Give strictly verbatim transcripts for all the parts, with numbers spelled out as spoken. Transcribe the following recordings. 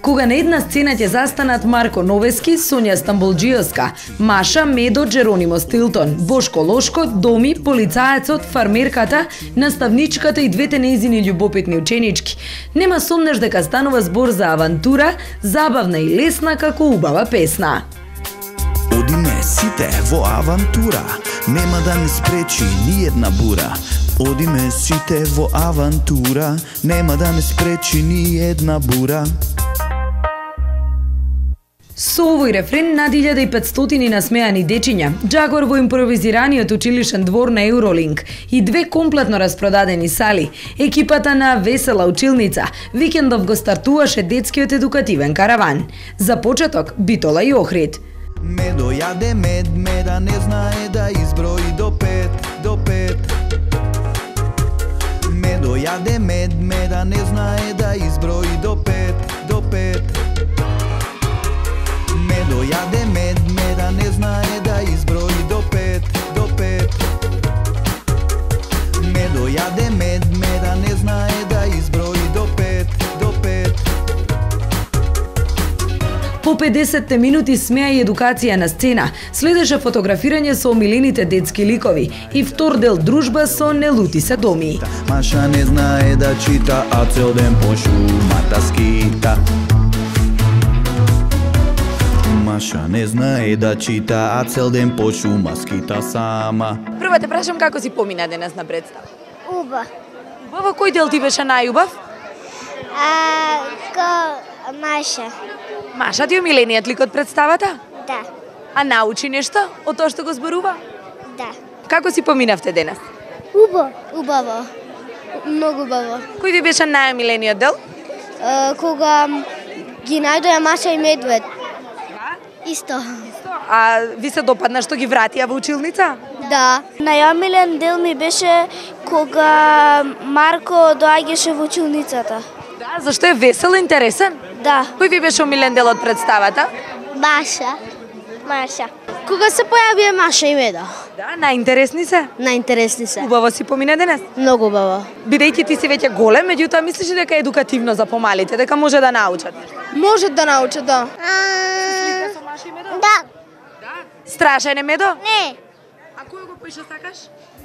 кога на една сцена ќе застанат Марко Новески, Сонја Стамболџиевска, Маша, Медо, Джеронимо Стилтон, Бошко Лошко, Доми, полицаецот, фармерката, наставничката и двете нејзини љубопитни ученички. Нема сомнеш дека станува збор за авантура, забавна и лесна како убава песна. Одиме сите во авантура, нема да не спречи ни една бура. Одиме сите во авантура, нема да не спречи ни една бура. Со овој рефрен над илјада и петстотини насмеани дечиња, џагор во импровизираниот училишен двор на Евролинк и две комплетно распродадени сали, екипата на Весела училница, викендов го стартуваше детскиот едукативен караван. За почеток, Битола и Охрид. Медо јаде мед, меда не знае да изброи до пет, до пет. Медо јаде мед, меда не знае да изброи до пет, до пет. Медо јаде мед, меда не знае да изброи до пет, до пет. Медо јаде мед, меда не знае да изброи до пет, до пет. По педесетте минути смеа и едукација на сцена, следеше фотографирање со омилените детски ликови и втор дел дружба со Нелути се Доми. Маша не знае да чита, а цел ден по шумата скита. Маша не знае да чита, а цел ден по шума скита сама. Прво те прашам како си помина денес на представа? Убав. Убаво, кој дел ти беше најубав? А, ко Маша. Маша ти е омилениот лик од представата? Да, А научи нешто од тоа што го зборува? да. Како си поминавте денес? Убаво. Убаво. Многу убаво. Кој ти беше најомилениот дел? А, кога ги најдоја Маша и Медвед. Исто. А ви се допадна што ги вратија во училница? Да. Најомилен дел ми беше кога Марко доаѓаше во училницата. Да, зашто е весел и интересен? Да. Кој ви беше омилен дел од представата? Маша. Маша. Кога се појавија Маша и Меда? Да, најинтересни се. Најинтересни се. Убаво си помина денес. Многу убаво. Бидејќи ти си веќе голем, меѓутоа мислиш ли дека е едукативно за помалите, дека може да научат? Може да научат, да. Слика со Маша и Медо? Да. Да. Страшен е Медо? Не. А кој го поише сакаш?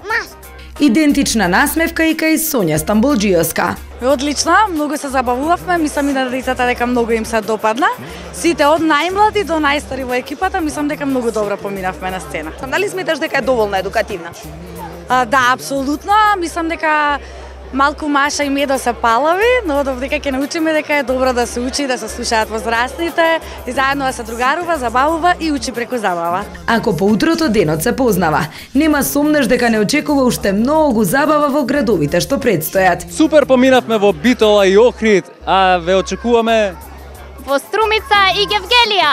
Маша. Идентична насмевка и кај Сонја Стамболџиевска. Одлично, многу се забавувавме, мислам и на децата дека многу им се допадна. Сите од најмлади до најстари во екипата, мислам дека многу добро поминавме на сцена. Дали сметаш дека е доволно едукативна? А, да, апсолутно, мислам дека малку Маша и Медо се палави, но дека ќе научиме дека е добро да се учи, да се слушаат возрастните и заедно да се другарува, забавува и учи преку забава. Ако поутрото денот се познава, нема сомнеш дека не очекува уште многу забава во градовите што предстојат. Супер поминавме во Битола и Охрид, а ве очекуваме во Струмица и Гевгелија.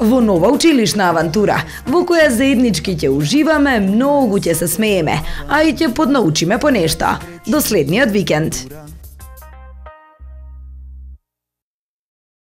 Во нова училишна авантура, во која заеднички ќе уживаме, многу ќе се смееме, а и ќе поднаучиме по нешто. До следниот викенд.